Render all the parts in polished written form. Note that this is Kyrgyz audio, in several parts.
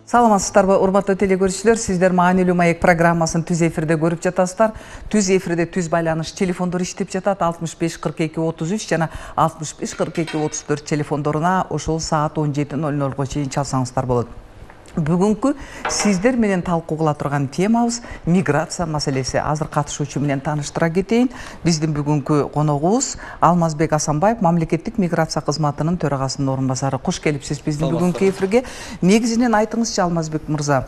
Саламатсыздарбы, урматтуу телекөрүүчүлөр, сиздер Маанилүү маек программасын түз эфирде көрүп жатасыздар. Түз эфирде түз байланыш телефондор иштеп жатат. 65 42 33 жана 65 42 34 телефондоруна ошол саат 17:00 чейин чалсаңыздар болот. Бүгүнкү сиздер менен талкуу кыла турган темабыз миграция маселеси. Азыр катышуучу менен тааныштыра кетейин. Биздин бүгүнкү коногубуз Алмазбек Асанбаев, мамлекеттик миграция кызматынын төрагасынын орун басары. Кош келипсиз биздин бүгүнкү эфирге. Негизинен айтыңызчы, Алмазбек мырза,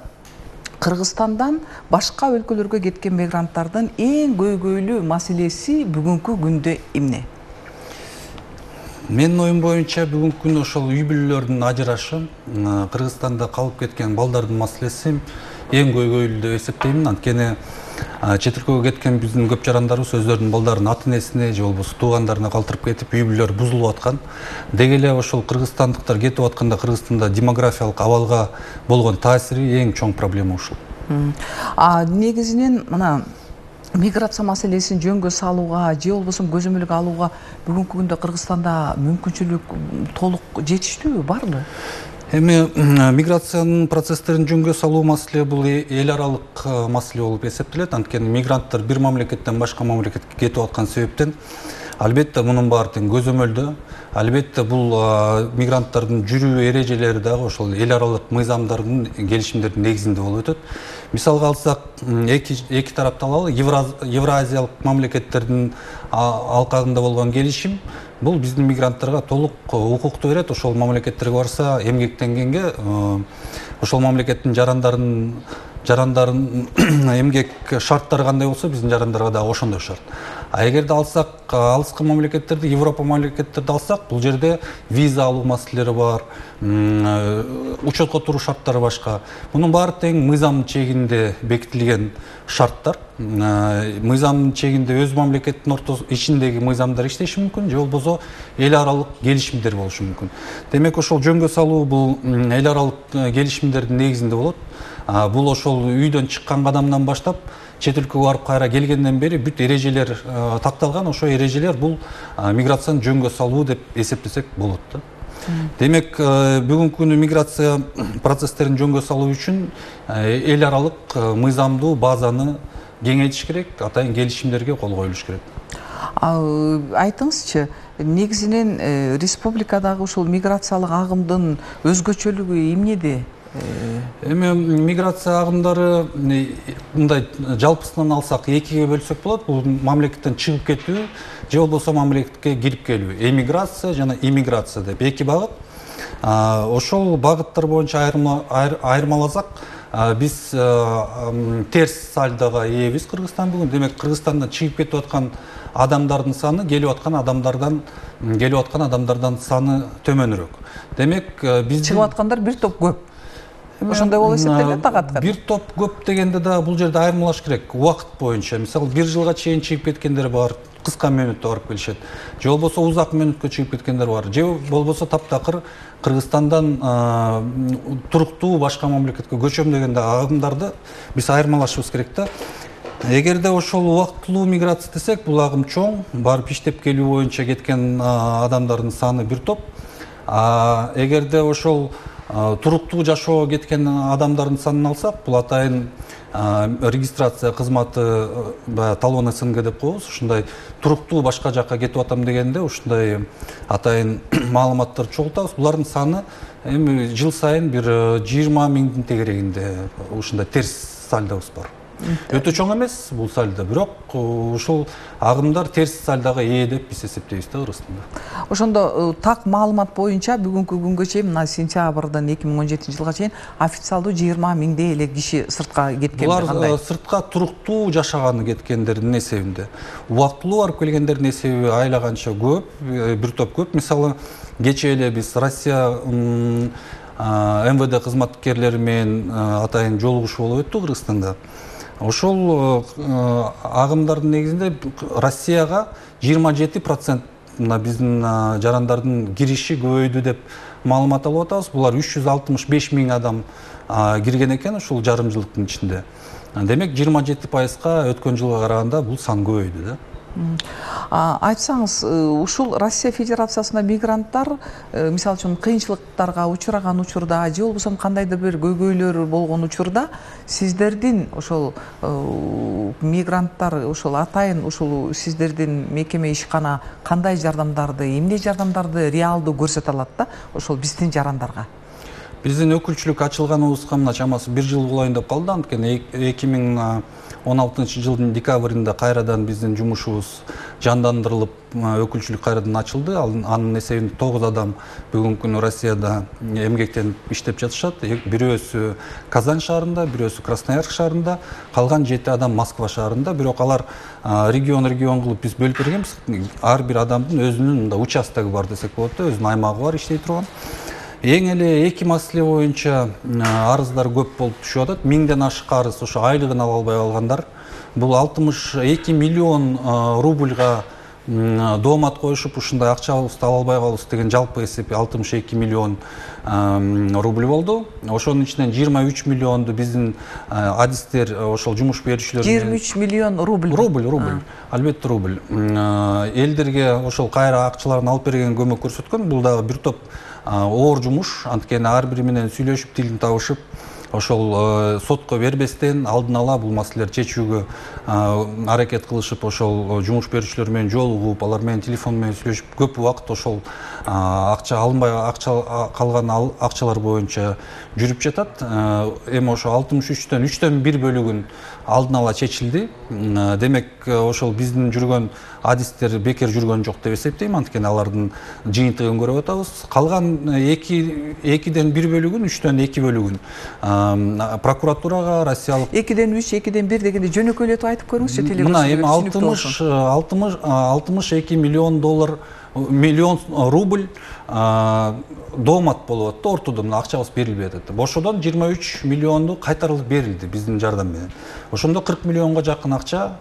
Кыргызстандан башка өлкөлөргө кеткен мигранттардын эң көйгөйлүү маселеси бүгүнкү күндө эмне? Менин оюм боюнча бүгүнкү күндө ошол үй бүлөлөрдүн ажырашы, Кыргызстанда калып кеткен балдардын маселеси эң көйгөйлүү деп эсептейм. Анткени чет өлкөгө кеткен биздин көп жарандарыбыз өздөрүнүн балдарын ата-энесине же болбосо туугандарына калтырып кетип, үй бүлөлөр бузулуп аткан. Деги эле ошол кыргызстандыктар кетип атканда Кыргызстанда демографиялык абалга болгон таасири эң чоң проблема ушул. Негизинен мына миграция маселесин жөнгө салууга же болбосо көзөмөлгө алууга бүгүнкү күндө Кыргызстанда мүмкүнчүлүк толук жетиштүүбү, барбы? Эми миграциянын процесстерин жөнгө салуу маселе бул эл аралык маселе болуп эсептелет. Анткени мигранттар бир мамлекеттен башка мамлекетке кетип аткан себептен албетте мунун баары тең көзөмөлдө. Албетте бул мигранттардын жүрүү эрежелери дагы ошол эл аралык мыйзамдардын, келишимдердин негизинде болуп өтөт. Мисалга алсак, эки тарапты алалы, Евразиялык мамлекеттердин алкагында болгон келишим бул биздин мигранттарга толук укукту берет. Ошол мамлекеттерге барса, эмгектенгенге ошол мамлекеттин жарандарын эмгек шарттары кандай болсо, биздин жарандарга дагы ошондой шарт. Эгерде алсак, алыскы мамлекеттерди, Европа мамлекеттерди алсак, бул жерде виза алуу маселелери бар, учетко туруу шарттары башка. Мунун баары тең мыйзам чегинде бекитилген шарттар. Мыйзам чегинде өз мамлекеттин ичиндеги мыйзамдар иштеши мүмкүн, же болбосо эл аралык келишимдер болушу мүмкүн. Демек ошол жөнгө салуу бул эл аралык келишимдердин негизинде болот. Бул ошол үйдөн чыккан кадамдан баштап чет өлкөгө барып кайра келгенден бери бүт эрежелер такталган. Ошо эрежелер бул миграцияны жөнгө салуу деп эсептесек болот да. Демек бүгүнкү күнү миграция процесстерин жөнгө салуу үчүн эл аралык мыйзамдуу базаны кеңейтиш керек, атайын келишимдерге кол коюлуш керек. Айтыңызчы, негизинен республикадагы ушул миграциялык агымдын өзгөчөлүгү эмнеде? Эми миграция агымдары мындай жалпысынан алсак экиге бөлсөк болот. Бул мамлекеттен чыгып кетүү же болбосо мамлекетке кирип келүү. Эмиграция жана иммиграция деп эки багыт. Ошол багыттар боюнча айырмаласак, биз терс сальдога ээбиз Кыргызстан бүгүн. Демек Кыргызстандан чыгып кетип аткан адамдардын саны келип аткан адамдардан саны төмөнүрөөк. Демек биз чыгып аткандар бир топ көп. Ошондой болуп эсептелет тагат. Бир топ көп дегенде да бул жерде айырмалаш керек. Убакыт боюнча, мисалы, бир жылга чейин чыгып кеткендер бар, кыска мөөнөттө барып келишет. Же болбосо узак мөөнөткө чыгып кеткендер бар. Же болбосо таптакыр Кыргызстандан туруктуу башка мамлекетке көчөм деген агымдарды биз айырмалашыбыз керек да. Эгерде ошол убактылуу миграция десек, бул агым чоң, барып иштеп келүү боюнча кеткен адамдардын саны бир топ. Эгерде ошол туруктуу жашоого кеткен адамдардын санын алсак, бул атайын регистрация кызматы, талон СНГ деп коебуз. Ушундай туруктуу башка жакка кетип атам дегенде ушундай атайын маалыматтарды чогултабыз. Булардын саны эми жыл сайын бир 20 миңдин тегерегинде ушундай терс сальдобуз бар. Өтө чоң эмес бул сальдо, бирок ушул агымдар терс сальдога ээ деп биз эсептейбиз да Кыргызстанда. Ошондо так маалымат боюнча бүгүнкү күнгө чейин, мына сентябрдан 2017 жылга чейин официалдуу 20 миңдей эле киши сыртка кеткен. Булар сыртка туруктуу жашаганы кеткендердин эсебинде. Убактылуу барып келгендердин эсеби айлаганча көп, бир топ көп. Мисалы, кечээ эле биз Россия МВД кызматкерлери менен атайын жолугушуу болуп өттү Кыргызстанда. Ошол агымдардын негизинде Россияга 27% биздин жарандардын кириши көбөйдү деп маалымат алып атабыз. Булар 365 миң адам кирген экен ушул жарым жылдыктын ичинде. Демек 27%га өткөн жылга караганда бул сан көбөйдү да. Айтсаңыз, ушул Россия Федерациясында мигранттар мисалы үчүн кыйынчылыктарга учураган учурда же болбосо кандайдыр бир көйгөйлөр болгон учурда сиздердин ошол мигранттар ошол атайын ушул сиздердин мекеме ишкана кандай жардамдарды, эмне жардамдарды реалдуу көрсөтө алат да ошол биздин жарандарга? Биздин өкүлчүлүк ачылганыбызга мына чамасы 1 жыл болоюн деп калды. Анткени 2016 жылдын декабрында кайрадан биздин жумушубуз жандандырылып, өкүлчүлүк кайрадан ачылды. Анын эсебинде 9 адам бүгүнкү күнү Россияда эмгектенип иштеп жатышат. Бирөөсү Казань шаарында, бирөөсү Красноярск шаарында, калган 7 адам Москва шаарында. Бирок алар регион кылып биз бөлүп бергенбиз. Ар бир адамдын өзүнүн участогу бар десек болот да, өзүнүн аймагы бар иштей турган. Эң эле 2 маселе боюнча арыздар көп болуп түшүп атат. 1000ден ашык арыз ошо айлыгын ала албай калгандар. Бул 62 миллион рубльга доомат коюшуп, ушундай акчабызды ала албай калабыз деген жалпы эсеп 62 миллион рубль болду. Ошонун ичинен 23 миллионду биздин адистер ошол жумуш берүүчүлөр 23 миллион рубль. Рубль. Албетте рубль. Элдерге ошол кайра акчаларын алып берген көмөк көрсөткөн. Бул дагы бир топ оор жумуш. Анткени ар бири менен сүйлөшүп, тилин табышып, ошол сотко бербестен алдын ала бул маселелерди чечүүгө аракет кылышып, ошол жумуш берүүчүлөр менен жолугуп, алар менен телефон менен сүйлөшүп, көп убакыт ошол акча алынбай калган акчалар боюнча жүрүп жатат. Эми ошо 63төн 3төн 1 бөлүгүн алдын ала чечилди. Демек, ошол биздин жүргөн адистер бекер жүргөн жок деп эсептейм. Анткени алардын жыйынтыгын көрүп атабыз. Калган 2ден 1 бөлүгүн, 3төн 2 бөлүгүн прокуратурага, Россиялык 2ден 3, 2ден 1 дегенде жөнөкөйлөтүп айтып көрүңүзчү телевизордо. Мына эми 62 миллион рубль доомат болуп атты, ортодо мына акчабыз берилбей атат. Ошодон 23 миллионду кайтарылып берилди биздин жардам менен. Ошондо 40 миллионго жакын акча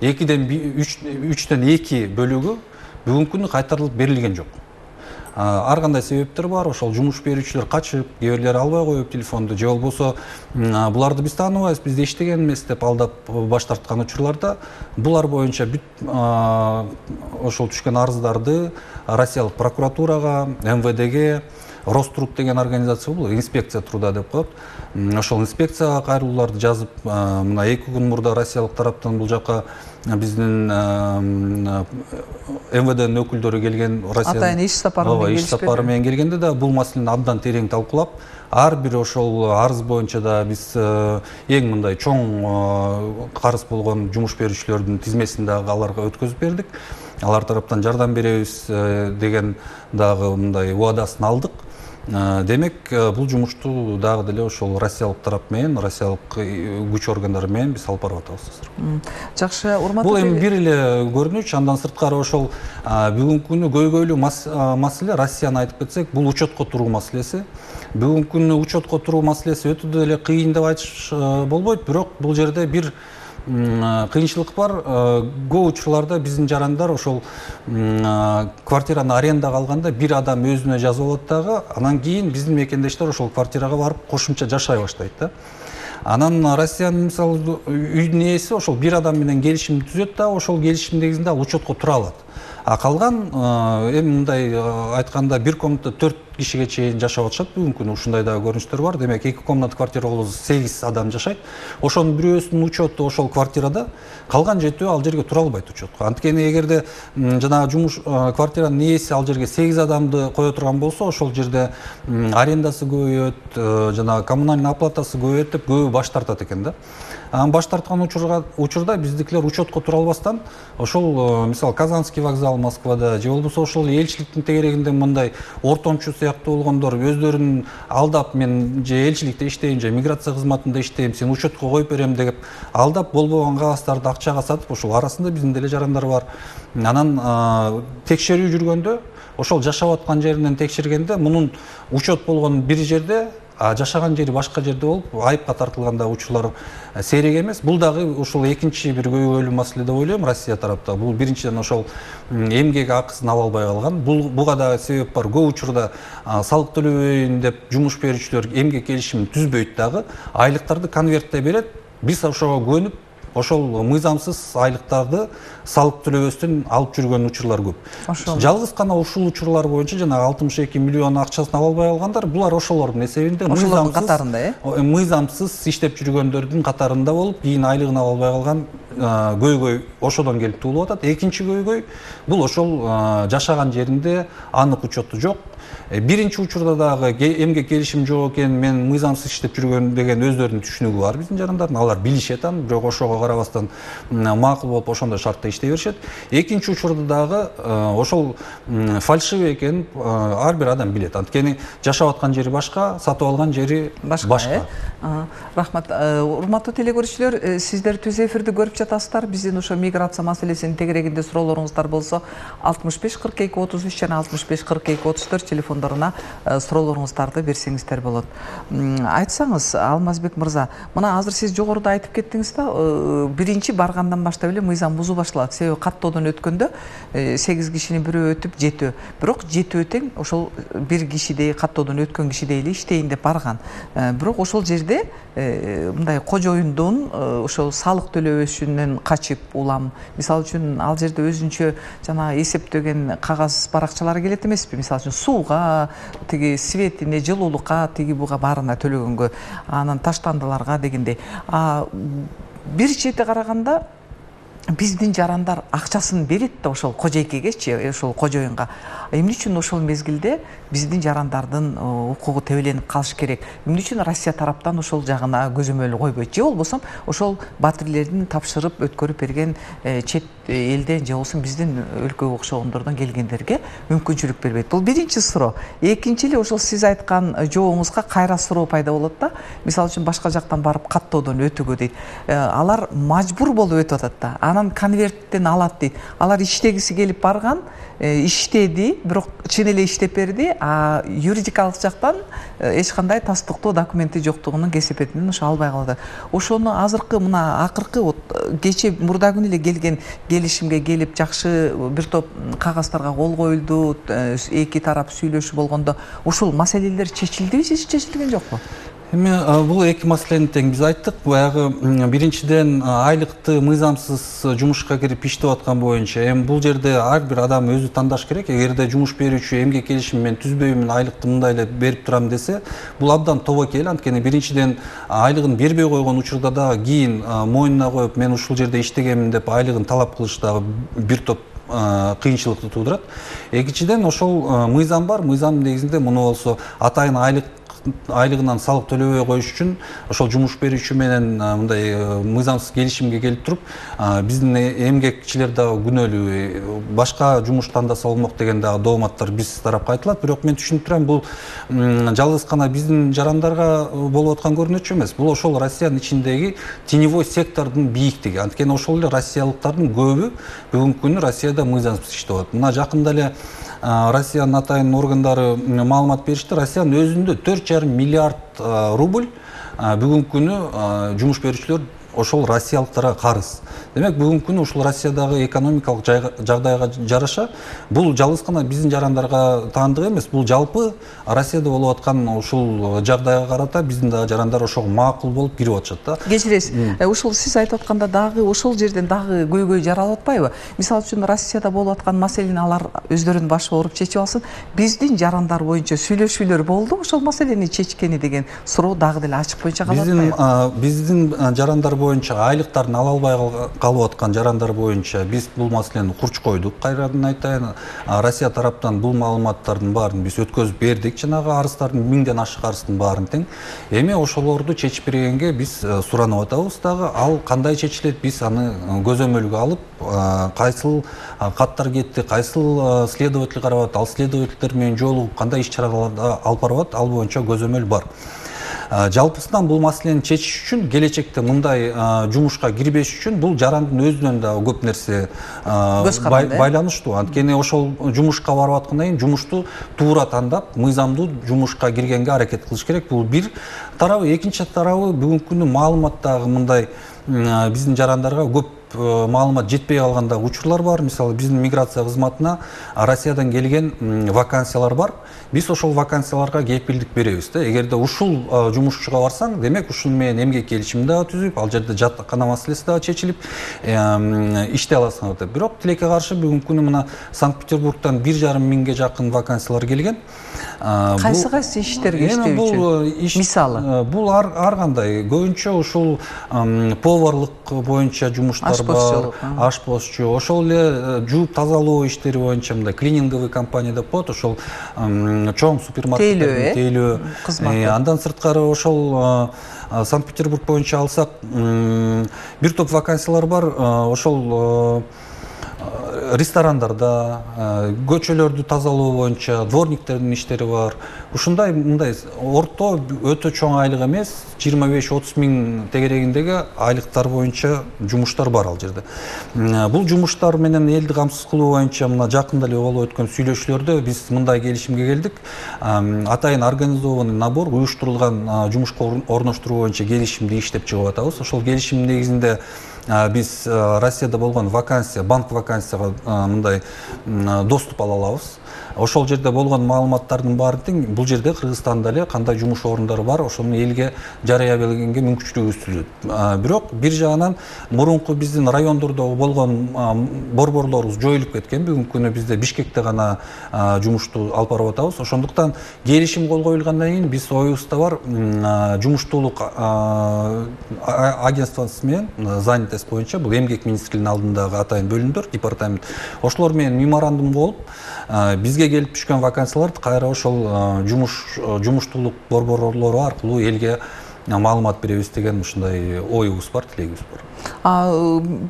3төн 2 бөлүгү бүгүнкү күнү кайтарылып берилген жок. Ар кандай себептер бар. Ошол жумуш берүүчүлөр качып, кээ бирлери албай коюп телефонду, же болбосо буларды биз тааныбайбыз, бизде иштеген эмес деп алдап баш тарткан учурларда булар боюнча ошол түшкөн арыздарды Россиялык прокуратурага, МВДге, Роструд деген организация бул, инспекция труда деп коет. Ошол инспекцияга кайрылууларды жазып, мына 2 күн мурда Россиялык тараптан бул жака биздин МВДнын өкүлдөрү келген, атайын иш сапары менен келгенде да бул маселени абдан терең талкуулап, ар бир ошол арыз боюнча да биз эң мындай чоң карыз болгон жумуш берүүчүлөрдүн тизмесин дагы аларга өткөзүп бердик. Алар тараптан жардам беребиз деген дагы мындай убадасын алдык. Демек, бул жумушту дагы деле ошол Россиялык тарап менен, Россиялык күч органдары менен биз алып барып атабыз. Жакшы, урматтуу. Бул эми бир эле көрүнүч, андан сырткары ошол бүгүнкү күнү көйгөйлүү маселе, Россияны айтып кетсек, бул учетко туруу маселеси. Бүгүнкү күнү учетко туруу маселеси өтө деле кыйын деп айтыш болбойт, бирок бул жерде бир кыйынчылык бар. Көп учурларда биздин жарандар ошол квартираны арендага алганда бир адам өзүнө жазып алат дагы, анан кийин биздин мекендештер ошол квартирага барып кошумча жашай баштайт да. Анан Россиянын мисалы үйдүн ээси ошол бир адам менен келишим түзөт да, ошол келишим негизинде ал учетко тура алат. А калган эми мындай айтканда бир комнатада 4 кишиге чейин жашап атышат бүгүнкү күнү. Ушундай дагы көрүнүштөр бар. Демек 2 комната квартира болсо 8 адам жашайт. Ошонун бирөөсүнүн учету ошол квартирада, калган 7 ал жерге тура албайт учетко. Анткени эгерде жанагы жумуш квартиранын ээси ал жерге 8 адамды кое турган болсо, ошол жерде арендасы көбөйөт, жанагы коммунальный оплатасы көбөйөт деп көбү баш тартат экен да. Баш тарткан учурда биздикилер учетко тура албастан ошол мисалы Казанский вокзал Москвада же болбосо ошол элчиликтин тегерегинде мындай ортомчу сыяктуу болгондор өздөрүн алдап, мен же элчиликте иштейм, же миграция кызматында иштейм, сени учетко коюп берем деп алдап болбогон кагаздарды акчага сатып, ошол арасында биздин деле жарандар бар. Анан текшерүү жүргөндө ошол жашап аткан жеринен текшергенде мунун учет болгон бир жерде, жашаган жери башка жерде болуп, айыпка тартылганда учурлар сейрек эмес. Бул дагы ошол экинчи бир көйгөйлүү маселе деп ойлойм Россия тарапта. Бул биринчиден ошол эмгек акысын ала албай калган. Буга да себеп бар. Көп учурда салык төлөбөйүн деп жумуш берүүчүлөр эмгек келишимин түзбөйт дагы, айлыктарды конвертте берет. Биз ошого көнүп ошол мыйзамсыз айлыктарды салык төлөбөстөн алып жүргөн учурлар көп. Жалгыз гана ушул учурлар боюнча жана 62 миллион акчасын ала албай калгандар булар ошолордун эсебинде мыйзамсыз иштеп жүргөндөрдүн катарында болуп, кийин айлыгын ала албай калган көйгөй ошодон келип туулуп атат. Экинчи көйгөй бул ошол жашаган жеринде анык учету жок. Биринчи учурда дагы эмгек келишим жок экен, мен мыйзамсыз иштеп жүргөн деген өздөрүнүн түшүнүгү бар биздин жарандардын. Алар билишет аны, бирок ошого карабастан макул болуп ошондой шартта иштей беришет. Экинчи учурда дагы ошол фальшивый экенин ар бир адам билет. Анткени жашап аткан жери башка, сатып алган жери башка. Рахмат. Урматтуу телекөрүүчүлөр, сиздер түз эфирди көрүп жатасыздар. Биздин ошо миграция маселесинин тегерегинде суроолоруңуздар болсо 65 42 33 жана 65 42 34 телефондоруна суроолоруңуздарды берсеңиздер болот. Айтсаңыз, Алмазбек мырза, мына азыр сиз жогоруда айтып кеттиңиз да, биринчи баргандан баштап эле мыйзам бузуу башталат. Себеби каттоодон өткөндө 8 кишинин бирөө өтүп 7, бирок 7 тең ошол бир кишидей каттоодон өткөн кишидей эле иштейин деп барган. Бирок ошол жерде мындай кожоюндун ошол салык төлөбөшүнөн качып улам, мисалы үчүн ал жерде өзүнчө жана эсептеген кагаз баракчалары келет эмеспи? Мисалы үчүн сууга, тиги светине, жылуулукка, тиги буга баарына төлөгөнгө, анан таштандыларга дегендей. Бир чети караганда биздин жарандар акчасын берет да ошол кожойкегечи, ошол кожоюнга. Эмне үчүн ошол мезгилде биздин жарандардын укугу тебеленип калыш керек? Эмне үчүн Россия тараптан ошол жагына көзөмөл койбойт? Же болбосо ошол батирлердин тапшырып өткөрүп берген чет элден же болбосо биздин өлкөгө окшогондордон келгендерге мүмкүнчүлүк бербейт? Бул биринчи суроо. Экинчи эле ошол сиз айткан жообуңузга кайра суроо пайда болот да. Мисалы үчүн башка жактан барып каттоодон өтүүгө дейт. Алар мажбур болуп өтүп атат да. Анан конверттен алат дейт. Алар иштегиси келип барган, иштеди, бирок чын эле иштеп берди, а юридикалык жактан эч кандай тастыктоо документи жоктугунун кесепетинен ошо албай калды. Ошону азыркы мына акыркы кече мурда күнү эле келген келишимге келип жакшы бир топ кагаздарга кол коюлду, эки тарап сүйлөшүү болгондо ушул маселелер чечилдиби же чечилген жокпу? Эми бул эки маселени тең биз айттык. Баягы биринчиден айлыкты мыйзамсыз жумушка кирип иштеп аткан боюнча, эми бул жерде ар бир адам өзү тандаш керек. Эгерде жумуш берүүчү эмгек келишим мен түзбөймүн, айлыкты мындай эле берип турам десе, бул абдан тобокел. Анткени биринчиден айлыгын бербей койгон учурда дагы кийин мойнуна коюп, мен ушул жерде иштегемин деп айлыгын талап кылыш дагы бир топ кыйынчылыкты туудурат. Экинчиден ошол мыйзам бар. Мыйзамдын негизинде муну болсо атайын айлыгынан салык төлөбөй коюш үчүн ошол жумуш берүүчү менен мындай мыйзамсыз келишимге келип туруп, биздин эмгекчилер дагы күнөөлүү, башка жумуш тандаса болмок деген дагы дооматтар биз тарапка айтылат. Бирок мен түшүнүп турам, бул жалгыз гана биздин жарандарга болуп аткан көрүнөчү эмес. Бул ошол Россиянын ичиндеги теневой сектордун бийиктиги. Анткени ошол эле россиялыктардын көбү бүгүнкү күнү Россияда мыйзамсыз иштеп атат. Мына жакында эле Россиянын атайын органдары маалымат беришти. Россиянын өзүндө 4,5 миллиард рубль бүгүнкү күнү жумуш берүүчүлөр ошол россиялыктарга карыз. Демек бүгүнкү күнү ушул Россиядагы экономикалык жагдайга жараша бул жалгыз гана биздин жарандарга таандык эмес, бул жалпы Россияда болуп аткан ушул жагдайга карата биздин дагы жарандар ошого макул болуп кирип атышат да. Кечиресиз, ушул сиз айтып атканда дагы ошол жерден дагы көйгөй жаралып атпайбы? Мисалы үчүн Россияда болуп аткан маселени алар өздөрүнүн башы ооруп чечип алсын, биздин жарандар боюнча сүйлөшүүлөр болду ошол маселени чечкени деген суроо дагы деле ачык боюнча калып атпайбы? Биздин жарандар боюнча айлыктарын ала албай калып аткан жарандар боюнча биз бул маселени курч койдук. Кайрадан айтайын, Россия тараптан бул маалыматтардын баарын биз өткөзүп бердик. Жанагы арыздардын 1000ден ашык арыздын баарын тең. Эми ошолорду чечип бергенге биз суранып атабыз дагы. Ал кандай чечилет, биз аны көзөмөлгө алып, кайсыл каттар кетти, кайсыл следователь карап атат, ал следовательдер менен жолугуп кандай иш-чараларды алып барып атат, ал боюнча көзөмөл бар. Жалпысынан бул маселени чечиш үчүн, келечекте мындай жумушка кирбеш үчүн бул жарандын өзүнөн да көп нерсе байланыштуу. Анткени ошол жумушка барып аткандан кийин жумушту туура тандап, мыйзамдуу жумушка киргенге аракет кылыш керек. Бул бир тарабы. Экинчи тарабы, бүгүнкү күнү маалымат дагы мындай биздин жарандарга көп маалымат жетпей калган учурлар бар. Мисалы биздин миграция кызматына Россиядан келген вакансиялар бар. Биз ошол вакансияларга кепилдик беребиз да. Эгерде ушул жумушчуга барсаң, демек ушул менен эмгек келишим дагы түзүп, ал жерде жатакана маселеси дагы чечилип, иштей аласың деп. Бирок тилекке каршы бүгүнкү күнү мына Санкт-Петербургтан 1,5 миңге жакын вакансиялар келген. Кайсы иштерге иштөө үчүн? Мисалы, бул ар кандай. Көбүнчө ушул поварлык боюнча жумуштар бар, ашпозчу, ошол эле жууп тазалоо иштери боюнча мындай клининговый компания деп коет, ошол чоң супермаркеттердин тейлөө кызматы. Андан сырткары ошол Санкт-Петербург боюнча алсак, бир топ вакансиялар бар. Ошол ресторандарда, көчөлөрдү тазалоо боюнча дворниктердин иштери бар. Ушундай мындай орто өтө чоң айлык эмес, 25-30 миң тегерегиндеги айлыктар боюнча жумуштар бар ал жерде. Бул жумуштар менен элди камсыз кылуу боюнча мына жакында эле болуп өткөн сүйлөшүүлөрдө биз мындай келишимге келдик. Атайын организованный набор, уюштурулган жумушка орноштуруу боюнча келишимди иштеп чыгып атабыз. Ошол келишим негизинде биз Россияда болгон вакансия, банк вакансияга мындай доступ ала алабыз. Ошол жерде болгон маалыматтардын баарын тең бул жерде Кыргызстанда эле кандай жумуш орундары бар, ошону элге жарыя бергенге мүмкүнчүлүгүбүз түзөт. Бирок бир жагынан мурунку биздин райондордо болгон борборлорубуз жоюлуп кеткен. Бүгүнкү күнү бизде Бишкекте гана жумушту алып барып атабыз. Ошондуктан келишим кол коюлгандан кийин биз оюбузда бар жумуштуулук агентствосы менен занятость боюнча, бул эмгек министрлигинин алдындагы атайын бөлүмдөр, департамент. Ошолор менен меморандум болуп, бизге келип түшкөн вакансияларды кайра ошол жумуштуулук борборлору аркылуу элге маалымат беребиз деген ушундай оюбуз бар, тилегибиз бар.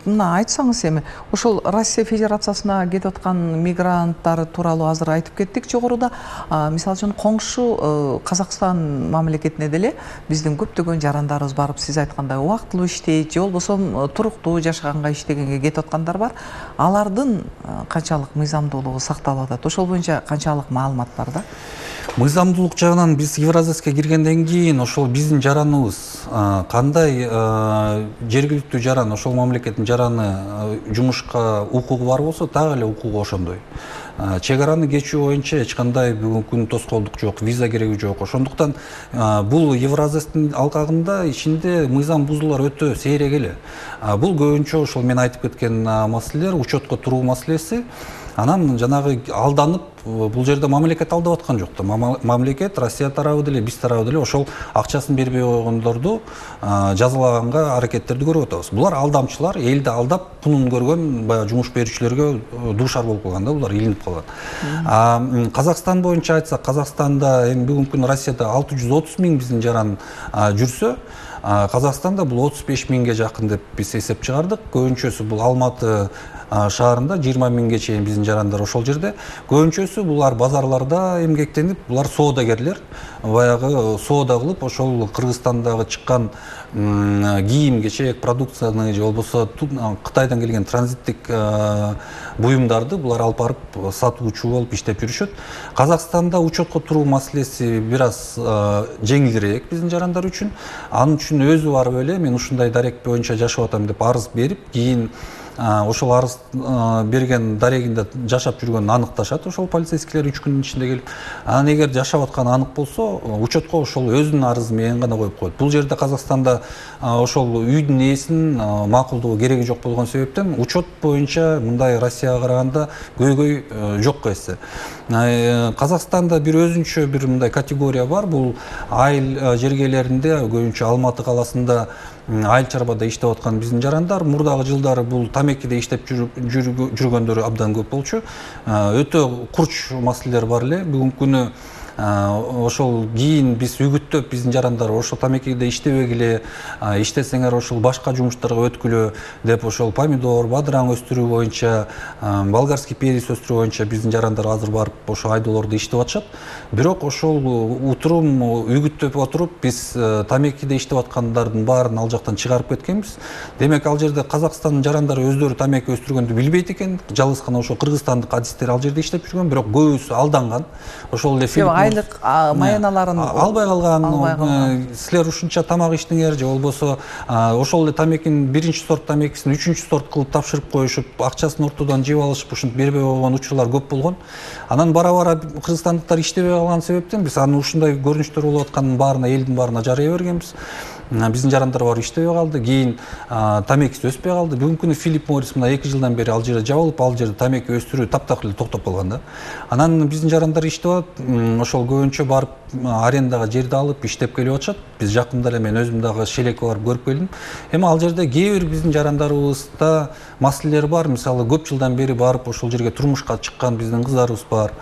Мына айтсаңыз эми, ошол Россия Федерациясына кетип аткан мигранттар тууралуу азыр айтып кеттик жогоруда. Мисалы үчүн коңшу Казакстан мамлекетине деле биздин көптөгөн жарандарыбыз барып, сиз айткандай убактылуу иштейт, же болбосо туруктуу жашаганга иштегенге кетип аткандар бар. Алардын канчалык мыйзамдуулугу сакталып атат? Ошол боюнча канчалык маалымат бар да? Мыйзамдуулук жагынан биз Евразияска киргенден кийин ошол биздин жараныбыз кандай жергиликтүү жаран, ошол мамлекеттин жараны жумушка укугу бар болсо, так эле укугу ошондой. Чек араны кечүү боюнча эч кандай бүгүнкү күндө тоскоолдук жок, виза кереги жок. Ошондуктан бул Евразиястын алкагында ичинде мыйзам бузуулар өтө сейрек эле. Бул көбүнчө ошол мен айтып кеткен маселелер, учетко туруу маселеси. Анан жанагы алданып, бул жерде мамлекет алдап аткан жок да. Мамлекет Россия тарабы деле, биз тарабы деле ошол акчасын бербей койгондорду жазалаганга аракеттерди көрүп атабыз. Булар алдамчылар, элди алдап, пунун көргөн баягы жумуш берүүчүлөргө дуушар болуп калган да, булар илинип калган. Казакстан боюнча айтсак, Казакстанда эми бүгүнкү күнү Россияда 630 миң биздин жаран жүрсө, Казакстанда бул 35 миңге жакын деп биз эсеп чыгардык. Көбүнчөсү бул Алматы шаарында 20 миңге чейин биздин жарандар ошол жерде. Көбүнчөсү булар базарларда эмгектенип, булар соодагерлер, баягы соода кылып, ошол Кыргызстандагы чыккан кийим, кечек, продукцияны же болбосо Кытайдан келген транзиттик буюмдарды булар алып барып сатуучу болуп иштеп жүрүшөт. Казакстанда учетко туруу маселеси бир аз жеңилирээк биздин жарандар үчүн. Анын үчүн өзү барып эле мен ушундай дарек боюнча жашап атам деп арыз берип, кийин ошол арыз берген дарегинде жашап жүргөнүн аныкташат ошол полицейскийлер 3 күндүн ичинде келип. Анан эгер жашап атканы анык болсо, учетко ошол өзүнүн арызы менен гана коюп коет. Бул жерде Казакстанда ошол үйдүн ээсинин макулдугу кереги жок болгон себептен учет боюнча мындай Россияга караганда көйгөй жок эсе. Казакстанда бир өзүнчө бир мындай категория бар. Бул айыл жергелеринде, көбүнчө Алматы каласында айыл чарбада иштеп аткан биздин жарандар мурдагы жылдары бул тамекиде иштеп жүргөндөрү абдан көп болчу. Өтө курч маселелер бар эле. Бүгүнкү күнү ошол кийин биз үгүттөп биздин жарандар ошол тамекиде иштебегиле, иштесеңер ошол башка жумуштарга өткүлө деп ошол помидор, бадыраң өстүрүү боюнча, болгарский перец өстүрүү боюнча биздин жарандар азыр барып ошол айдоолордо иштеп атышат. Бирок ошол утурум үгүттөп отуруп биз тамекиде иштеп аткандардын баарын ал жактан чыгарып кеткенбиз. Демек ал жерде Казакстандын жарандары өздөрү тамеки өстүргөндү билбейт экен. Жалгыз гана ошол кыргызстандык адистер ал жерде иштеп жүргөн, бирок көбүсү алданган. Ошол эле айлык маяналарын албай калган, силер ушунча тамак иштиңер же болбосо ошол эле тамекинин биринчи сорт тамекисин үчүнчү сорт кылып тапшырып коюшуп, акчасын ортодон жеп алышып, ушинтип бербей койгон учурлар көп болгон. Анан бара кыргызстандыктар иштебей калган себептен биз анын ушундай көрүнүштөр болуп атканын баарына, элдин баарына жарыя бергенбиз. Биздин жарандар бар иштебей калды, кийин тамекиси өспөй калды. Бүгүнкү күнү Филипп Моррис мына 2 жылдан бери ал жерде жабылып, ал жерде тамеки өстүрүү таптакыр эле токтоп калган да. Анан биздин жарандар иштеп атат, ошол көбүнчө барып арендага жерди алып иштеп келип атышат. Биз жакында эле мен өзүм дагы шелекке барып көрүп келдим. Эми ал жерде кээ бир биздин жарандарыбызда маселелер бар. Мисалы, көп жылдан бери барып ошол жерге турмушка чыккан биздин кыздарыбыз бар.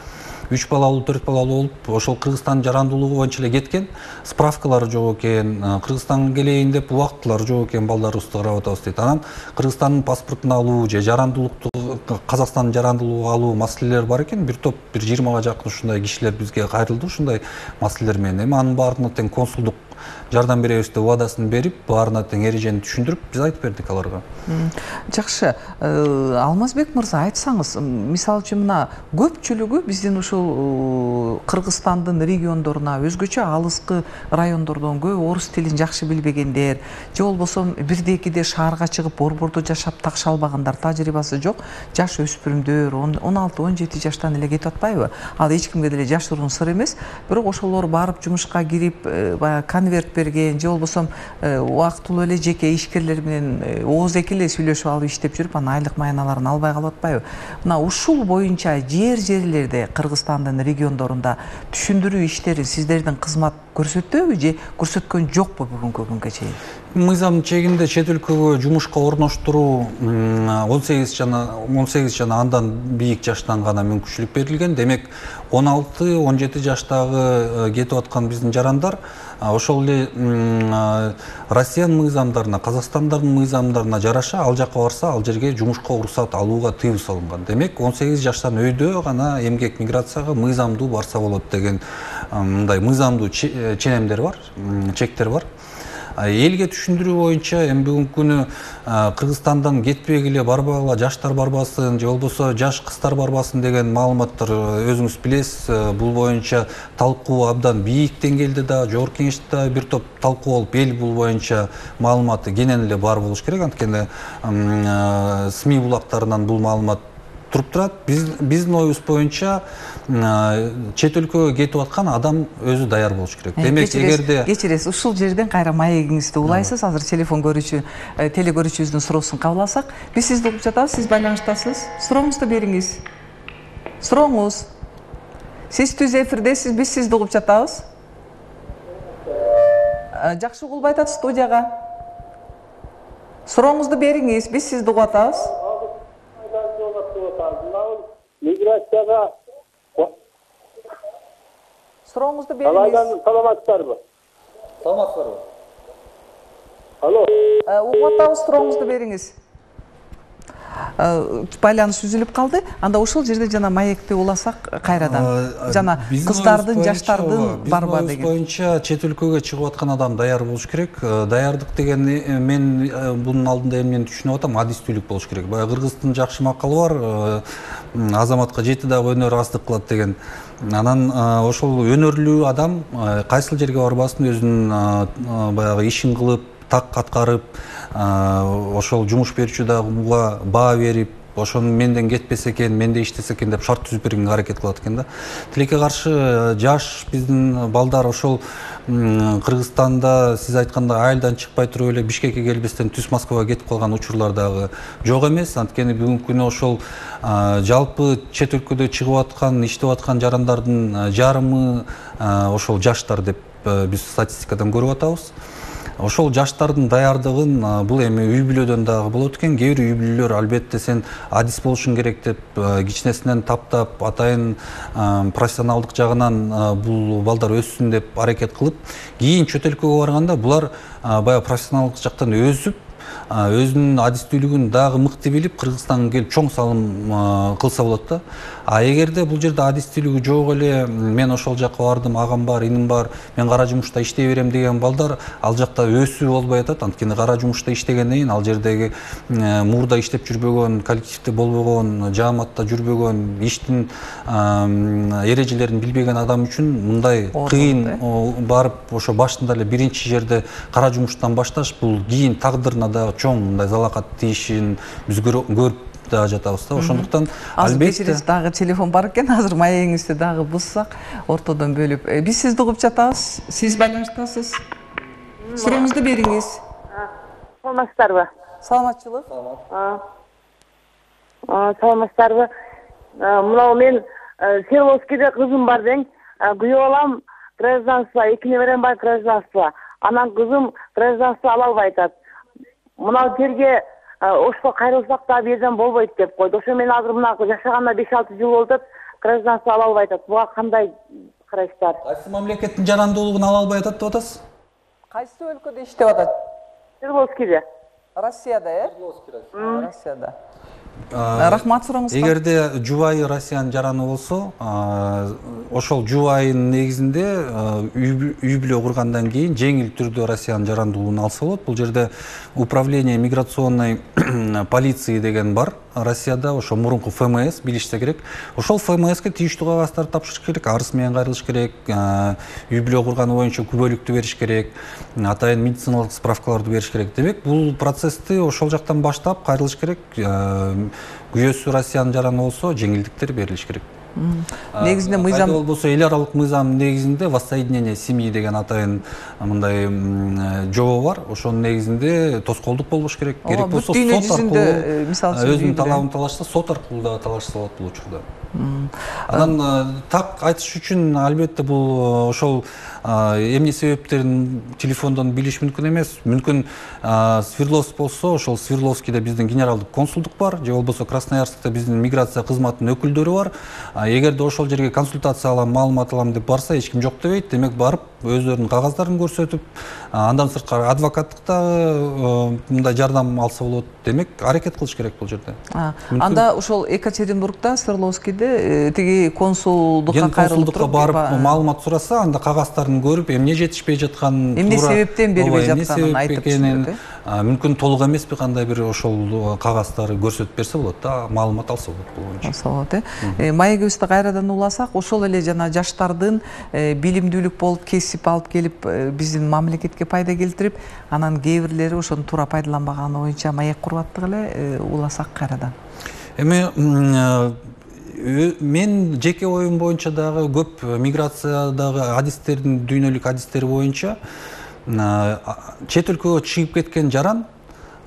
3 балалуу, 4 балалуу болуп, ошол Кыргызстандын жарандуулугу боюнча эле кеткен, справкалары жок экен, Кыргызстанга келейин деп убактылары жок экен, балдарыбызды карап атабыз дейт. Анан Кыргызстандын паспортун алуу же жарандуулукту, Казакстандын жарандуулугун алуу маселелер бар экен. Бир топ, бир 20га жакын ушундай кишилер бизге кайрылды ушундай маселелер менен. Эми анын баарына тең консулдук жардам беребиз деп убадасын берип, баарына тең эрежени түшүндүрүп, биз айтып бердик аларга. Жакшы, Алмазбек мырза, айтсаңыз, мисалы үчүн мына көпчүлүгү биздин ушул Кыргызстандын региондоруна, өзгөчө алыскы райондордон көп орус тилин жакшы билбегендер, же болбосо бирде-экиде шаарга чыгып борбордо жашап такша албагандар, тажрыйбасы жок жаш өспүрүмдөр 16-17 жаштан эле кетип атпайбы? Ал эч кимге деле жашыруун сыр эмес. Бирок ошолор барып жумушка кирип, конверт берген, же болбосо убактылуу эле жеке ишкерлер менен ооз-эки эле сүйлөшүп алып иштеп жүрүп, анан айлык маяналарын албай калып атпайбы? Мына ушул боюнча жерлерде Кыргызстандын региондорунда түшүндүрүү иштерин сиздердин кызмат көрсөттүбү же көрсөткөн жокпу бүгүнкү күнгө чейин? Мыйзам чегинде чет өлкөгө жумушка орноштуруу 18 жана андан бийик жаштан гана мүмкүнчүлүк берилген. Демек 16-17 жаштагы кетип аткан биздин жарандар ошол эле Россиянын мыйзамдарына, Казакстандын мыйзамдарына жараша ал жакка барса, ал жерге жумушка уруксат алууга тыюу салынган. Демек 18 жаштан өйдө гана эмгек миграцияга мыйзамдуу барса болот деген мындай мыйзамдуу ченемдер бар, чектер бар. Элге түшүндүрүү боюнча эми бүгүнкү күнү Кыргызстандан кетпегиле, барбагыла, жаштар барбасын, же болбосо жаш кыздар барбасын деген маалыматтар өзүңүз билесиз. Бул боюнча талкуу абдан бийик деңгээлде да, жогорку кеңеште да бир топ талкуу болуп, эл бул боюнча маалыматы кенен эле бар болуш керек. Анткени СМИ булактарынан бул маалымат туруп турат. Биздин оюбуз боюнча чет өлкөгө кетип аткан адам өзү даяр болуш керек. Демек, эгерде кечиресиз, ушул жерден кайра маегиңизди улайсыз. Азыр телефон көрүүчү, телекөрүүчүбүздүн суроосун кабыл алсак. Биз сизди угуп жатабыз, сиз байланыштасыз. Сурооңузду бериңиз. Сурооңуз. Сиз түз эфирдесиз, биз сизди угуп жатабыз. Жакшы угулбай атат студияга. Сурооңузду бериңиз, биз сизди угуп атабыз. Миграцияга сурооңузду бериңиз. Саламатсыздарбы? Саламатсыздарбы? Алло. Угуп атабыз, сурооңузду бериңиз. Байланыш үзүлүп калды. Анда ошол жерде жана маекти уласак кайрадан. Жана кыздардын, жаштардын барбы деген. Боюнча чет өлкөгө чыгып аткан адам даяр болуш керек. Даярдык деген мен бунун алдында эмнени түшүнүп атам, адистүүлүк болуш керек. Баягы кыргыздын жакшы макалы бар, азаматка жети дагы өнөр аздык кылат деген. Анан ошол өнөрлүү адам кайсыл жерге барбасын, өзүнүн баягы ишин кылып, так аткарып, ошол жумуш берүүчү дагы буга баа берип, ошону менден кетпесе экен, менде иштесе экен деп шарт түзүп бергенге аракет кылат экен да. Тилекке каршы жаш биздин балдар ошол Кыргызстанда сиз айткандай айылдан чыкпай туруп эле Бишкекке келбестен түз Москвага кетип калган учурлар дагы жок эмес. Анткени бүгүнкү күнү ошол жалпы чет өлкөдө чыгып аткан, иштеп аткан жарандардын жарымы ошол жаштар деп биз статистикадан көрүп атабыз. Ошол жаштардын даярдыгын бул эми үй бүлөдөн дагы болот экен. Кээ бир үй бүлөлөр албетте сен адис болушуң керек деп кичинесинен таптап, атайын профессионалдык жагынан бул балдар өссүн деп аракет кылып, кийин чет өлкөгө барганда булар баягы профессионалдык жактан өсүп, өзүнүн адистүүлүгүн дагы мыкты билип Кыргызстанга келип чоң салым кылса болот да. А эгерде бул жерде адистүүлүгү жок эле, мен ошол жакка бардым, агам бар, иним бар, мен кара жумушта иштей берем деген балдар ал жакта өсүү болбой атат. Анткени кара жумушта иштегенден кийин ал жердеги мурда иштеп жүрбөгөн, коллективде болбогон, жааматта жүрбөгөн, иштин эрежелерин билбеген адам үчүн мындай кыйын барып ошо башында эле биринчи жерде кара жумуштан башташ бул кийин тагдырына дагы чоң мындай залакат тийишин биз көрүп да жатабыз да. Ошондуктан албетте дагы телефон бар экен, азыр маегиңизди дагы буссак, ортодон бөлүп. Биз сизди угуп жатабыз. Сиз байланыштасыз. Сурооңузду бериңиз. Саламатсыздарбы? Саламатчылык. Саламатсыздарбы? Мына мен Свердловскийде кызым бар дең. Күйөө балам гражданство, 2 неберем бар гражданство. Анан кызым гражданство ала албай атат. Мына жерге ошко кайрылсак да бирден болбойт деп койду. Ошо мен азыр мына жашаганына 5-6 жыл болуп атат, гражданство ала албай атат. Буга кандай карайсыздар? Кайсы мамлекеттин жарандуулугун ала албай атат деп атасыз? Кайсы өлкөдө иштеп атат? Свердловскийде. Россияда, Россияда. Рахмат сурооңузга. Эгерде жубайы Россиянын жараны болсо, ошол жубайынын негизинде үй бүлө кургандан кийин жеңил түрдө Россиянын жарандуулугун алса болот. Бул жерде управление миграционной полиции деген бар Россияда, ошо мурунку ФМС билишсе керек. Ошол ФМСке тийиштүү кагаздарды тапшырыш керек, арыз менен кайрылыш керек, үй бүлө курганы боюнча күбөлүктү бериш керек, атайын медициналык справкаларды бериш керек. Демек, бул процессти ошол жактан баштап кайрылыш керек. Күйөөсү Россиянын жараны болсо, жеңилдиктер берилиш керек. Негизинде мыйзам болсо эл аралык мыйзам негизинде воссоединение семьи деген атайын мындай жобо бар. Ошонун негизинде тоскоолдук болбош керек. Керек болсо сот аркылуу, мисалы үчүн өзүнүн талабын талашса, сот аркылуу да талашса болот бул учурда. Анан так айтыш үчүн албетте бул ошол эмне себептерин телефондон билиш мүмкүн эмес. Мүмкүн Свердловск болсо, ошол Свердловскийде биздин генералдык консулдук бар, же болбосо Красноярскта биздин миграция кызматынын өкүлдөрү бар. Эгерде ошол жерге консультация алам, маалымат алам деп барса, эч ким жок дебейт. Демек, барып өздөрүнүн кагаздарын көрсөтүп, андан сырткары адвокаттыкта мындай жардам алса болот. Демек, аракет кылыш керек бул жерде. Анда ошол Екатеринбургда, Свердловскийде тиги консулдукка кайрылып туруп барып маалымат сураса, анда кагаздарын көрүп, эмне жетишпей жатканын, эмне себептен бербей жатканын айтып түшүнөт. Мүмкүн толук эмеспи, кандай бир ошол кагаздарды көрсөтүп берсе болот да, маалымат алса болот бул боюнча. Алса болот, маегибизди кайрадан уласак, ошол эле жана жаштардын билимдүүлүк болуп, кесип алып келип, биздин мамлекетке пайда келтирип, анан кээ бирлери ошону туура пайдаланбаганы боюнча маек куруп аттык эле, уласак кайрадан. Мен жеке оюм боюнча дагы көп миграциядагы адистердин, дүйнөлүк адистери боюнча чет өлкөгө чыгып кеткен жаран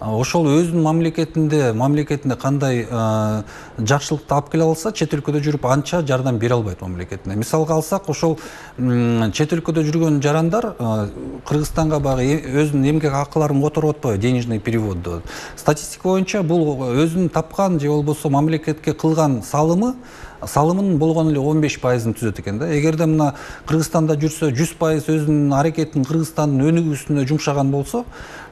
ошол өзүнүн мамлекетинде кандай жакшылыкты алып келе алса, чет өлкөдө жүрүп анча жардам бере албайт мамлекетине. Мисалга алсак, ошол чет өлкөдө жүргөн жарандар Кыргызстанга баягы өзүнүн эмгек акыларын которуп атпайбы, денежный перевод деп. Статистика боюнча бул өзүнүн тапкан же болбосо мамлекетке кылган салымын болгону эле 15%-ын түзөт экен да. Эгерде мына Кыргызстанда жүрсө 100% өзүнүн аракетин Кыргызстандын өнүгүүсүнө жумшаган болсо,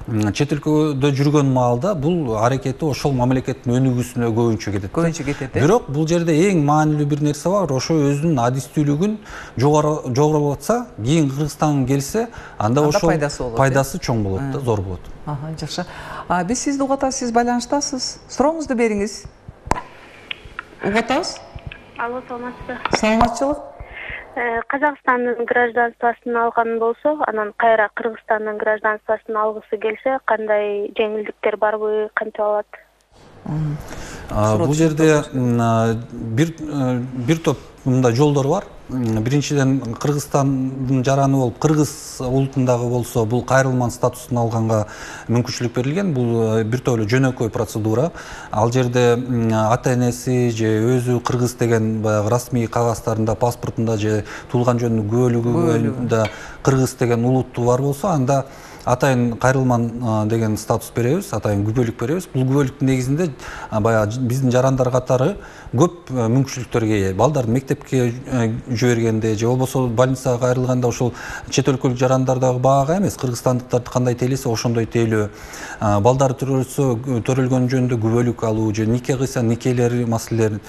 чет өлкөдө жүргөн маалда бул аракети ошол мамлекеттин өнүгүүсүнө көбүнчө кетет. Бирок бул жерде эң маанилүү бир нерсе бар, ошо өзүнүн адистүүлүгүн жогорулатса, кийин Кыргызстанга келсе, анда ошол пайдасы чоң болот да, зор болот. Жакшы. Биз сизди угуп атабыз, сиз байланыштасыз. Сурооңузду бериңиз. Угуп атабыз? Алло, саламатсызбы? Саламатчылык. Казакстандын гражданствосын алган болсо, анан кайра Кыргызстандын гражданствосын алгысы келсе, кандай жеңилдиктер барбы, канча алат? Бул жерде бир топ мындай жолдор бар. Биринчиден, Кыргызстандын жараны болуп, кыргыз улутундагы болсо, бул кайрылман статусун алганга мүмкүнчүлүк берилген. Бул бир топ эле жөнөкөй процедура. Ал жерде ата-энеси же өзү кыргыз деген баягы расмий кагаздарында, паспортунда же туулган жөнүнүн күбөлүгүндө кыргыз деген улуттуу бар болсо, анда атайын кайрылман деген статус беребиз, атайын күбөлүк беребиз. Бул күбөлүктүн негизинде баягы биздин жарандар катары көп мүмкүнчүлүктөргө ээ. Балдарды мектепке жибергенде же болбосо больницага кайрылганда ошол чет өлкөлүк жарандардагы баага эмес, кыргызстандыктарды кандай тейлесе ошондой тейлөө. Балдары төрөлгөн жөнүндө күбөлүк алуу же нике кыйса никелери маселелери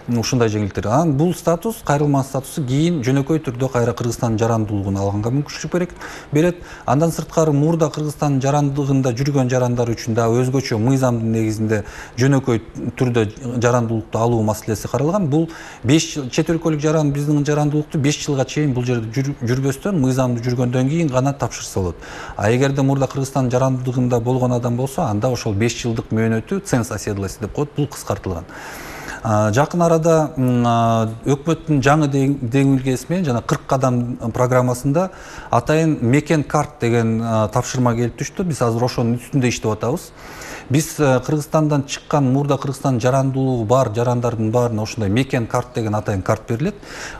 ушундай жеңилдиктер. Анан бул статус, кайрылман статусу кийин жөнөкөй түрдө кайра Кыргызстандын жарандуулугун алганга мүмкүнчүлүк берет. Андан сырткары мурда Кыргызстандын жарандыгында жүргөн жарандар үчүн да өзгөчө мыйзамдын негизинде жөнөкөй түрдө жарандуулукту алуу маселеси каралган. Бул 5 жыл чет өлкөлүк жаран биздин жарандуулукту 5 жылга чейин бул жерде жүрбөстөн мыйзамдуу жүргөндөн кийин гана тапшырса болот. А эгерде мурда Кыргызстандын жарандыгында болгон адам болсо, анда ошол 5 жылдык мөөнөтү ценз оседлости деп коет, бул кыскартылган. Жакын арада өкмөттүн жаңы деңилгеси менен жана 40 кадам программасында атайын мекен карт деген тапшырма келип түштү. Биз азыр ошонун үстүндө иштеп атабыз. Биз Кыргызстандан чыккан мурда Кыргызстандын жарандуулугу бар жарандардын баарына ошондой мекен карт деген атайын карт берилет.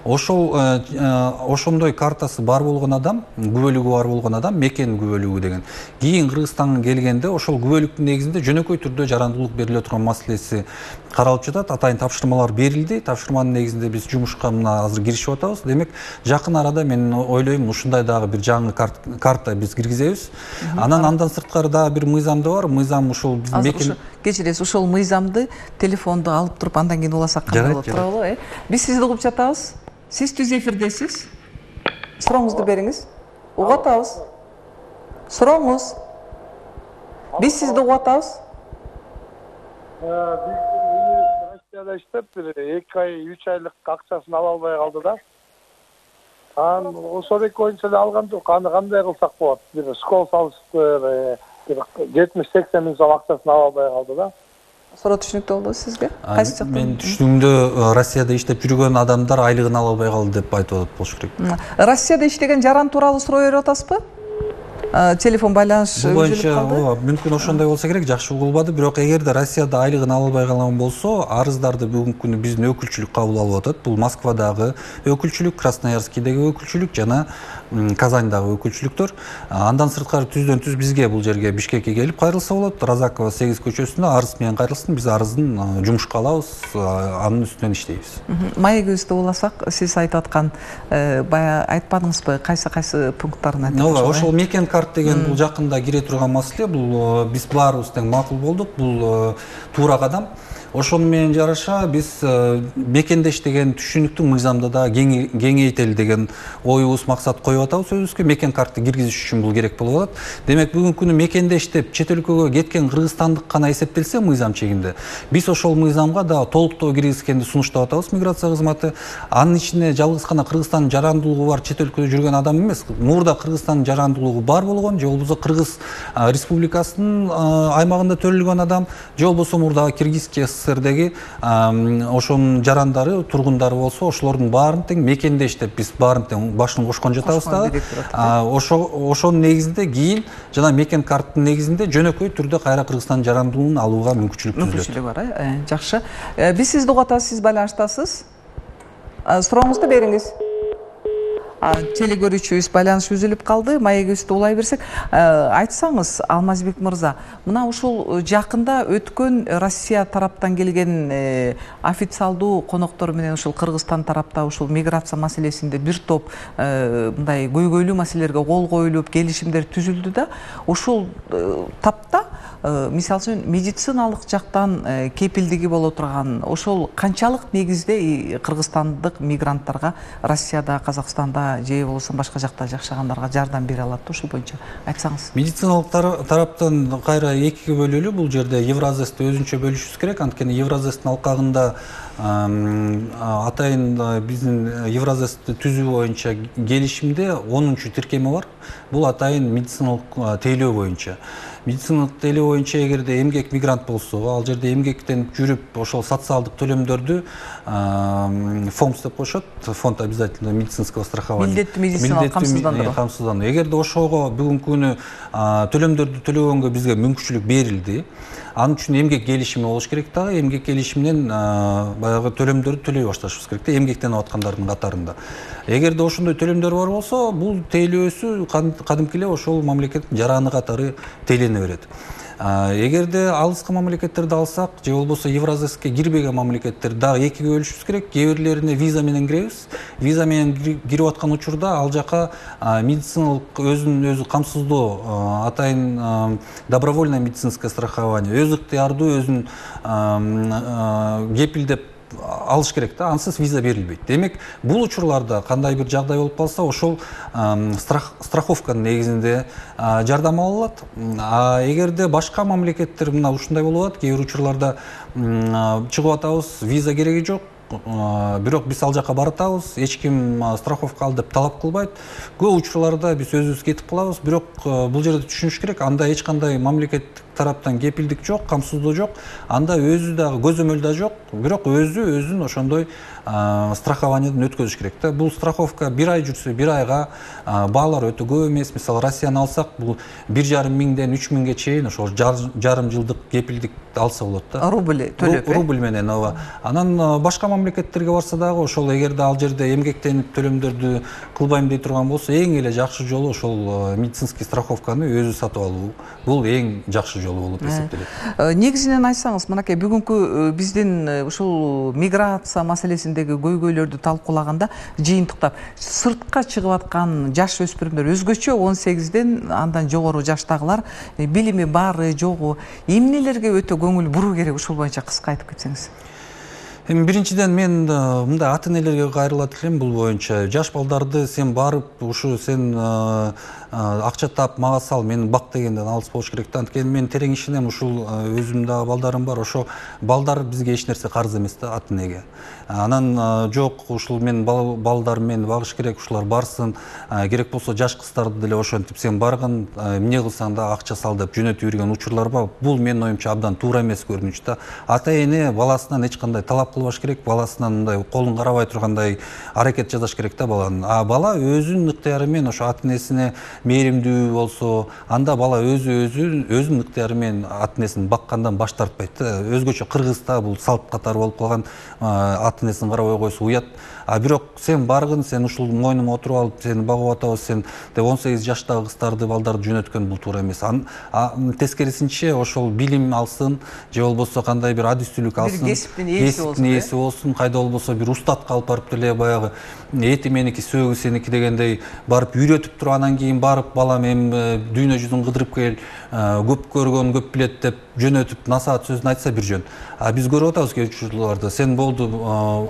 Ошондой картасы бар болгон адам, күбөлүгү бар болгон адам мекен күбөлүгү деген. Кийин Кыргызстанга келгенде ошол күбөлүктүн негизинде жөнөкөй түрдө жарандуулук бериле турган маселеси каралып жатат. Атайын тапшырмалар берилди. Тапшырманын негизинде биз жумушка мына азыр киришип атабыз. Демек, жакын арада мен ойлойм ушундай дагы бир жаңы карта биз киргизебиз. Андан сырткары дагы бир мыйзам да бар. Мыйзам ушул биздин мекен кечиресиз, ошол мыйзамды телефонду алып туруп андан кийин уласак кандай болот туурабы? Биз сизди угуп жатабыз. Сиз түз эфирдесиз. Сурооңузду бериңиз. Угуп атабыз. Сурооңуз. Биз сизди угуп атабыз. Россияда иштеп, 2 ай, 3 айлык акчасын ала албай калды да. Анан ошол 2 боюнча эле алган жок. Аны кандай кылсак болот? Бир школ салышты, 70-80 миң сом акчасын ала албай калды да. Суроо түшүнүктүү болду сизге? Кайсы жактан? Мен түшүнүгүмдө Россияда иштеп жүргөн адамдар айлыгын ала албай калды деп айтып атат болуш керек. Россияда иштеген жаран тууралуу суроо берип атасызбы? Телефон байланыш үзүлүп калды. Мүмкүн ошондой болсо керек, жакшы угулбады. Бирок эгерде Россияда айлыгын ала албай калган болсо, арыздарды бүгүнкү күнү биздин өкүлчүлүк кабыл алып атат. Бул Москвадагы өкүлчүлүк, Красноярскийдеги өкүлчүлүк жана Казандагы өкүлчүлүктөр. Андан сырткары түздөн түз бизге бул жерге Бишкекке келип кайрылса болот. Разакова 8 көчөсүндө арыз менен кайрылсын. Биз арыздын жумушка алабыз, анын үстүнөн иштейбиз. Маегибизди уласак, сиз айтып аткан бая айтпадыңызбы, кайсы пункттарын айтып? Ошол мекен карт деген бул жакында кире турган маселе. Бул биз баарыбыз тең макул болдук. Бул туура кадам. Ошону менен жараша биз мекендеш деген түшүнүктү мыйзамда да кеңейтели деген оюбуз, максат коюп атабыз өзүбүзгө. Мекен картты киргизиш үчүн бул керек болуп атат. Демек, бүгүнкү күнү мекендеш деп чет өлкөгө кеткен кыргызстандык гана эсептелсе мыйзам чегинде, биз ошол мыйзамга да толуктоо киргизгенди сунуштап атабыз миграция кызматы. Анын ичине жалгыз гана Кыргызстандын жарандуулугу бар чет өлкөдө жүргөн адам эмес, мурда Кыргызстандын жарандуулугу бар болгон же болбосо Кыргыз Республикасынын аймагында төрөлгөн адам, же болбосо мурда Киргизия СССРдеги ошонун жарандары, тургундары болсо, ошолордун баарын тең мекендеш деп биз баарын тең башын кошкон жатабыз да. Ошонун негизинде кийин жана мекен карттын негизинде жөнөкөй түрдө кайра Кыргызстандын жарандуулугун алууга мүмкүнчүлүк түзүлөт. Мүмкүнчүлүк бар, жакшы. Биз сизди угуп атабыз, сиз байланыштасыз. Сурооңузду бериңиз. Телегөрүүчүбүз байланыш үзүлүп калды. Маегибизди улай берсек, айтсаңыз, Алмазбек мырза, мына ушул жакында өткөн Россия тараптан келген официалдуу коноктор менен ушул Кыргызстан тарапта ушул миграция маселесинде бир топ мындай көйгөйлүү маселелерге кол коюлуп, келишимдер түзүлдү да. Ушул тапта мисалы үчүн медициналык жактан кепилдиги боло турган ошол канчалык негизде кыргызстандык мигранттарга Россияда, Казакстанда же болбосо башка жакта жашагандарга жардам бере алат? Ушул боюнча айтсаңыз. Медициналык тараптан кайра экиге бөлөлүү. Бул жерде Евразэсти өзүнчө бөлүшүбүз керек. Анткени Евразэстин алкагында атайын биздин Евразэсти түзүү боюнча келишимде 10-чу тиркеме бар. Бул атайын медициналык тейлөө боюнча. Медициналык тейлөө боюнча эгерде эмгек мигрант болсо, ал жерде эмгектен жүрүп, ошол социалдык төлөмдөрдү ФОМС деп коюшат, фонд обязательного медицинского страхования. Милдеттүү медициналык камсыздандыруу. Эгерде ошого бүгүнкү күнү төлөмдөрдү төлөгөнгө бизге мүмкүнчүлүк берилди. Анын үчүн эмгек келишими болуш керек дагы. Эмгек келишиминен баягы төлөмдөрдү төлөй башташыбыз керек да, эмгектенип аткандардын катарында. Эгерде ошондой төлөмдөр бар болсо, бул тейлөөсү кадимки эле ошол мамлекеттин жараны катары тейлене берет. Эгерде алыскы мамлекеттерди алсак, же болбосо Евразияска кирбеген мамлекеттерди дагы экиге бөлүшүбүз керек. Кээ бирлерине виза менен киребиз. Виза менен кирип аткан учурда ал жака медициналык өзүн өзү камсыздоо, атайын добровольное медицинское страхование, өз ыктыярдуу өзүн кепилдеп алыш керек да, ансыз виза берилбейт. Демек, бул учурларда кандай бир жагдай болуп калса, ошол страховканын негизинде жардам ала алат. Эгерде башка мамлекеттер мына ушундай болуп атат, кээ бир учурларда чыгып атабыз, виза кереги жок, бирок биз ал жака баратабыз, эч ким страховка ал деп талап кылбайт. Көп учурларда биз өзүбүз кетип калабыз, бирок бул жерде түшүнүш керек, анда эч кандай мамлекеттик тараптан кепилдик жок, камсыздоо жок, анда өзү дагы көзөмөл да жок, бирок өзүн ошондой страхованиядан өткөзүш керек да. Бул страховка 1 ай жүрсө 1 айга баалар өтө көп эмес. Мисалы Россияны алсак, бул 1,5 миңден 3 миңге чейин ошол жарым жылдык кепилдик алса болот да. Рубль төлөп. Рубль менен, ооба. Анан башка мамлекеттерге барса дагы ошол эгерде ал жерде эмгектенип төлөмдөрдү кылбайм дей турган болсо, эң эле жакшы жолу ошол медицинский страховканы өзү сатып алуу. Бул эң жакшы жолу болуп эсептелет. Негизинен айтсаңыз, мынакей бүгүнкү биздин ушул миграция маселесиндеги көйгөйлөрдү талкуулаганда, жыйынтыктап, сыртка чыгып аткан жаш өспүрүмдөр өзгөчө 18ден андан жогору жаштагылар билими бары жогу, эмнелерге өтө көңүл буруу керек, ушул боюнча кыска айтып кетсеңиз. Биринчиден мен мындай ата-энелерге кайрылат элем бул боюнча. Жаш балдарды сен барып, ушу сен акча тап, мага сал, мени бак дегенден алыс болуш керек да. Анткени мен терең ишенем, ушул өзүмдүн дагы балдарым бар. Ошо балдар бизге эч нерсе карыз эмес да, ата-энеге. Анан жок, ушул мен балдарым мени багыш керек, ушулар барсын, керек болсо жаш кыздарды деле ошентип сен баргын, эмне кылсаң да акча сал деп жөнөтүп жүргөн учурлар бар. Бул менин оюмча абдан туура эмес көрүнүш да. Ата-эне баласынан эч кандай талап кылбаш керек, баласынан мындай колун карабай тургандай аракет жасаш керек да баланын. Бала өзүнүн ыктыяры менен ошо ата-энесине мээримдүү болсо, анда бала өзүнүн ыктыяры менен ата-энесин баккандан баш тартпайт да. Өзгөчө Кыргызда бул салт катары болуп калган, ата-энесин карабай койсо уят. Бирок сен баргын, сен ушул мойнума отуруп алып, сени багып атабыз, сен деп 18 жаштагы кыздарды, балдарды жөнөткөн бул туура эмес. Тескерисинче ошол билим алсын, же болбосо кандай бир адистүүлүк алсын, кесиптин ээси болсун, кайда болбосо бир устатка алып барып деле баягы эти меники, сөөгү сеники дегендей барып үйрөтүп туруп, анан кийин барып балам эми дүйнө жүзүн кыдырып кел, көп көргөн көп билет деп жөнөтүп насаат сөзүн айтса бир жөн. Биз көрүп атабыз кээ учурларда, сен болду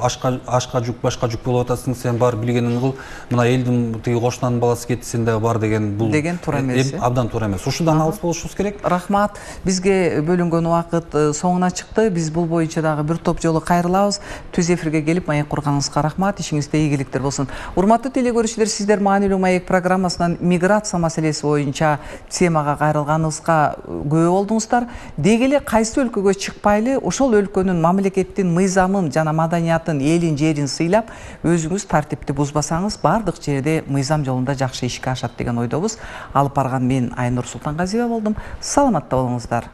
ашка жүк, башка жүк болуп атасың, сен бар билгениңди кыл, мына элдин тиги кошунанын баласы кетти, сен дагы бар деген бул туура эмес. Абдан туура эмес. Ушудан алыс болушубуз керек. Рахмат. Бизге бөлүнгөн убакыт соңуна чыкты. Биз бул боюнча дагы бир топ жолу кайрылабыз. Түз эфирге келип маек курганыңызга рахмат. Ишиңизде ийгиликтер болсун. Урматтуу телегөрүүчүлөр, сиздер маанилүү маек программасынан миграция маселеси боюнча темага кайрылганыбызга күбө болдуңуздар. Деги эле кайсы өлкөгө чыкпайлы, ошол өлкөнүн мамлекеттин мыйзамын жана маданиятын, элин, жерин сыйлап, өзүңүз тартипти бузбасаңыз, бардык жерде мыйзам жолунда жакшы ишке ашат деген ойдобуз. Алып барган мен Айнур Султангазиева болдум. Саламатта болуңуздар.